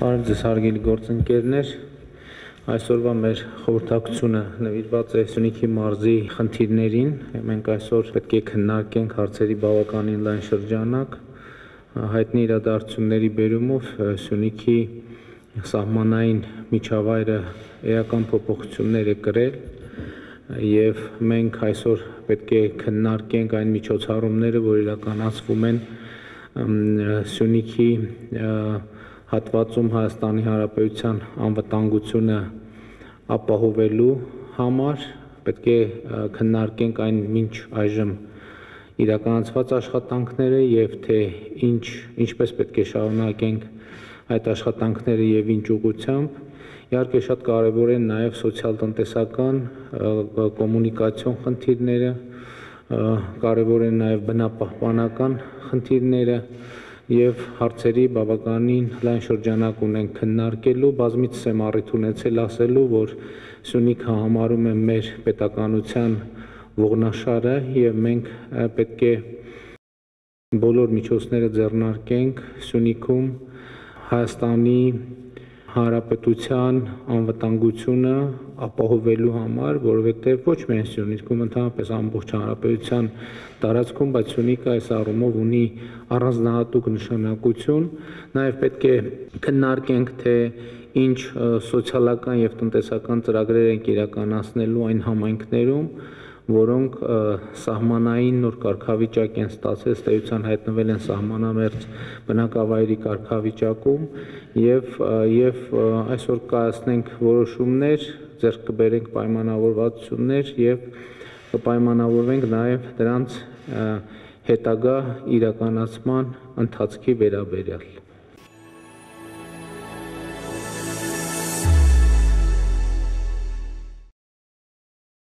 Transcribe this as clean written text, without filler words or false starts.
Բարև ձեզ հարգելի գործընկերներ, այսօրվա մեր խորհրդակցությունը նվիրված է Սյունիքի մարզի խնդիրներին, մենք այսօր պետք է քննարկենք հարցերի բավականին լայն շրջանակ, հայտնի իրադարձությունների բերումով Սյունիքի սահմանային միջավայրը էական փոփոխություններ է կրել եւ մենք այսօր պետք է քննարկենք այն միջոցառումները, որ իրականացվում են Սյունիքի հատվածում Հայաստանի Հանրապետության անվտանգությունը ապահովելու համար, պետք է քննարկենք այն մինչ այժմ իրականացված աշխատանքները եւ թե ինչպես պետք է շարունակենք այդ աշխատանքները եւ ինչ ուղղությամբ, իհարկե շատ կարեւոր են նաեւ սոցիալ-տնտեսական կոմունիկացիոն խնդիրները, կարեւոր են նաեւ բնապահպանական խնդիրները եւ հարցերի բավականին լայն շրջանակ ունենք քննարկելու, բազմիցս եմ առիթ ունեցել ասելու, որ Սյունիքը համարում է մեր պետականության ողնաշարը եւ մենք պետք է բոլոր միջոցները ձեռնարկենք Սյունիքում Հայաստանի Հանրապետության անվտանգությունը ապահովելու համար, որովհետև ոչ միայն Սյունիքում, ընդհանրապես ամբողջ հանրապետության տարածքում, բայց Սյունիքը այս առումով ունի առանձնահատուկ նշանակություն, նաև պետք է քննարկենք, թե ինչ սոցիալական եւ տնտեսական ծրագրեր ենք իրականացնելու այն համայնքներում, որոնք սահմանային նոր կարգավիճակ են ստացել, ըստ էության հայտնվել են սահմանամերձ բնակավայրի կարգավիճակում եւ այսօր կայացնենք որոշումներ, ձեռք կբերենք պայմանավորվածություններ եւ կպայմանավորվենք նաեւ դրանց հետագա իրականացման ընթացքի վերաբերյալ։